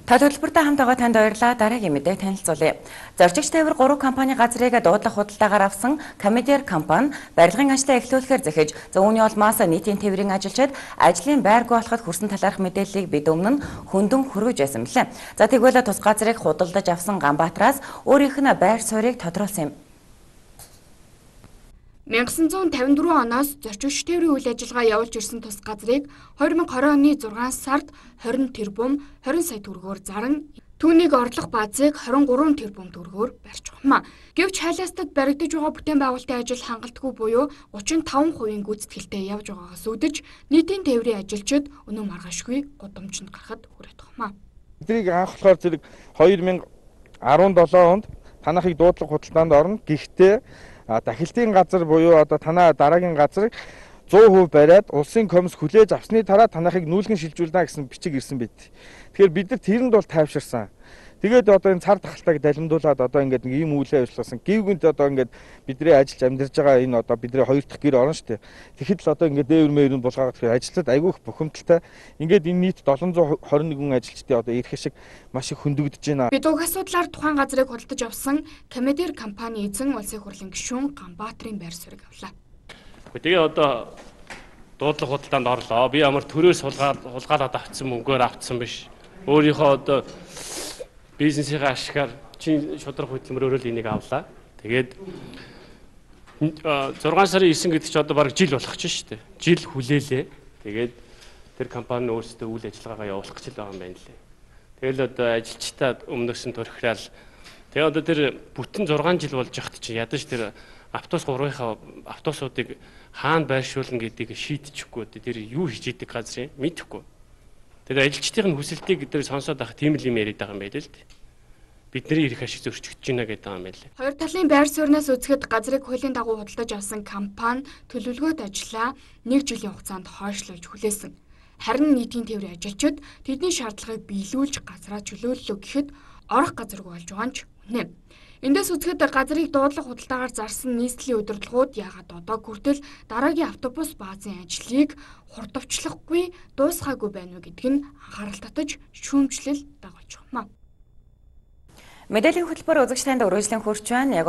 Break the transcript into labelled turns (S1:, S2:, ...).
S1: Та төлбөртэй хамт байгаа танд баярлалаа. Дараагийн мэдээ танилцуулъя. Зорчигч тээвэр 3 компани газрыг дуудлах худалдаагаар авсан Комедер компани барилгын ажлаа эхлүүлэхээр захиж үүний улмаас нийтийн тээврийн ажилчид ажлын байргүй болоход хүрсэн талаарх мэдээллийг бид өмнө нь хөндөн хүргэж байсан билээ. За тэгвэл тус газрыг худалдаж авсан Ганбаатараас өөрийнх нь байр суурийг тодруулсан юм.
S2: 1954 оноос зорчигч тээврийн үйл ажиллагаа явуулж ирсэн тус газрыг 2020 оны 6 сард 20 тэрбум 20 сая төгрөгөөр заран түүнийг орлох баазыг 23 тэрбум төгрөгөөр барьж ухмаа. Гэвч хайлаастад баригдаж байгаа бүтээн байгуулалтын ажил хангалтгүй буюу 35% гүйцэтгэлтэй явж байгаагаас үүдэж нийтийн тээврийн ажилчид өнөө маргаашгүй гудамжинд гарахад хүрээд ухмаа.
S3: Эдрийг анх болохоор зэрэг 2017 онд танахыг дуудлага худалдаанд орно. Гэхдээ дахилтын газар буюу одоо танаа дараагийн газрыг 100% бариад улсын комисс хүлээж авсны дараа танахыг нүүлгэн шилжүүлнэ гэсэн бичиг ирсэн байт. Тэгэхээр бид нар тэрэнд бол тайвширсан. Тэгээд одоо энэ цар тахалтайг далимдуулаад одоо ингээд нэг ийм үйл ажиллагаасан. Гівгэнт одоо ингээд бидний ажиллаж амьдарч байгаа энэ одоо бидний хоёр дахь гэр орно шүү дээ. Тэгэхэд л одоо ингээд дээвэр мээрүн булгаагаад тэгэхээр ажилтнууд айгүйх бухимдалтай. Ингээд энэ нийт 721 ажилчдын одоо ирэх шиг маш их хөндөгдөж байна.
S2: Бид уг асуудлаар тухайн газрыг худалдаж авсан Комедер компани эзэн улсын хурлын гишүүн Ганбаатарын байр суурийг авлаа.
S4: Тэгээ одоо дуудлага худалдаанд орлоо. Би ямар төрөөс хулгайлаад авцсан мөнгөөр авцсан биш. Өөрийнхөө одоо бизнесийн ашигаар чин шудраг хөдөлмөрөөр л энийг авлаа. Тэгээд 6 сарын 9 гэдэг чи одоо бараг жил болох ч шүү дээ. Жил хүлээлээ. Тэгээд тэр компани өөрсдөө үйл ажиллагаагаа явуулах гэж байгаа юм байна лээ. Тэгэл одоо ажилчдаа өмнөөс нь төрхрал. Тэгээ одоо тэр бүтэн 6 жил болж яхад чи ядаж тэр автобус 3-ийнхаа автобусуудыг хаана байршуулна гэдгийг шийдчихгүй. Тэр юу хийж идэг газрын мэдэхгүй. Тэгээд ажилчдын хүсэлтийг тэр сонсоод авах тийм л юм яриад байгаа юм байл л дээ. Бидний ирэх ашиг зөрчигдөж байна гэдэг юм байлээ.
S2: Хоёр талын байр сууриас үзэхэд газрыг хуулийн дагуу худалдаж авсан компани төлөвлөгөөт ажиллаа 1 жилийн хугацаанд хойшлуулж хүлээсэн. Харин нийтийн тээврийн ажилчид тэдний шаардлагыг биелүүлж газраа чөлөөллөө гэхэд орох газаргүй болж байгаа нь ч үнэ. Эндээс үзэхэд газрыг дуудлах худалдаагаар зарсан нийслэлийн удирдлагууд яагаад одоо хүртэл дараагийн автобус баазын ажлыг хурдвчлахгүй дуусгаагүй байна вэ гэдг нь анхаарал татаж шүүмжлэл дагуулж байна.
S1: Мэдээллийн хөтөлбөр үзэгч танд өргөжлөн хүрч байна. Яг